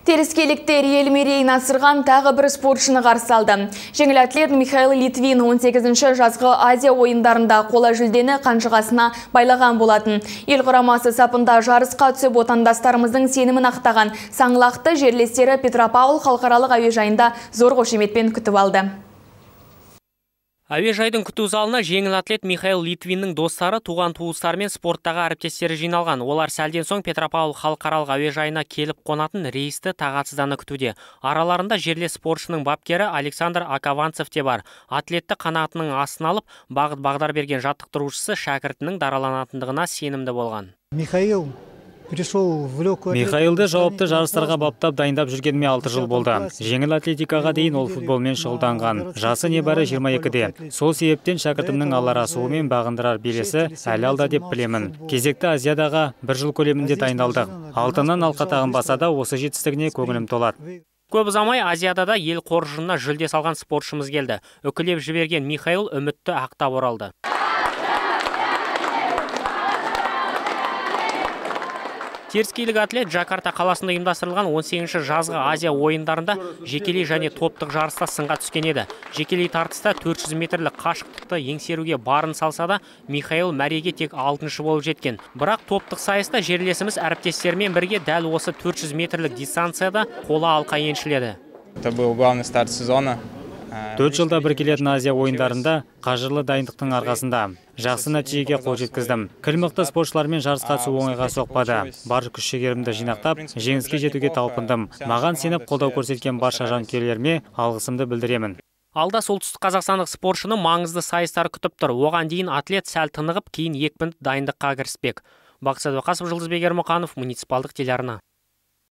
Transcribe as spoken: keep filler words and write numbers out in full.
Теріскейліктер ел мерейін асырған тағы бір спортшыны қарсы алды. Жеңіл атлет Михаил Литвин он сегізінші жазғы Азия ойындарында қола жүлдені қанжығасына байлаған болатын. Ел құрамасы сапында жарысқа түсіп отандастарымыздың сенімін ақтаған саңлақты жерлестері Петропавл халықаралық әуежайында зор қошеметпен күтіп алды. Әуежайдың күту залына жеңіл атлет Михаил Литвиннің достары, туған туыстары мен спорттағы әріптестері жиналған. Олар сәлден соң Петропавл халықаралық әуежайына келіп қонатын рейсті тағатсыздана күтуде. Араларында жерлес спортшының бапкері Александр Акаванцев те бар. Атлетті қанатының астына алып, бағыт-бағдар берген жаттықтырушысы шәкіртінің дараланатындығына сенімді болған. Михаил Михаилды жауапты жарыстарға баптап дайындап жүргеніме алты жыл болды. Жеңіл атлетикаға дейін ол футболмен шұғылданған. Жасы небәрі жиырма екіде. Сол себептен шәкіртімнің алар асуымен бағындырар белесі әлі алда деп білемін. Кезекті Азиядаға бір жыл көлемінде дайындалдық. Алтыннан алқа тағынбаса да осы жетістігіне көңілім толады. Көп ұзамай Азияда да ел қоржынына жүлде салған спортшымыз келді. Үкілеп жіберген Михаил үмітті ақтап оралды. Теріскейлік атлет Джакарта қаласында ұйымдастырылған он сегізінші жазғы Азия ойындарында жекелей және топтық жарыста сынға түскен еді. Жекелей тартыста төрт жүз метрлік қашықтықты еңсеруге барын салса да, Михаил мәреге тек алтыншы болып жеткен. Бірақ топтық сайыста жерлесіміз әріптестермен бірге дәл осы төрт жүз метрлік дистанцияда қола алқа еншіледі. Это был главный старт сезона. Төрт жылда бір келетін Азия ойындарында қажырлы дайындықтың арқасында жақсы нәтижеге қол жеткіздім. Кіл-мықты спортшылармен жарысқа түсу оңайға соқпады. Бар күш-жігерімді жинақтап, жеңіске жетуге талпындым. Маған сеніп қолдау көрсеткен барша жанкүйерлеріме алғысымды білдіремін. Алда солтүстік қазақстандық спортшыны маңызды сайыстар күтіп тұр. Оған дейін атлет сәл тынығып, кейін екпінді дайындыққа кіріспек. Бақытсат Оқасов, Жұлдызбек Ермұқанов, муниципалдық телеарна.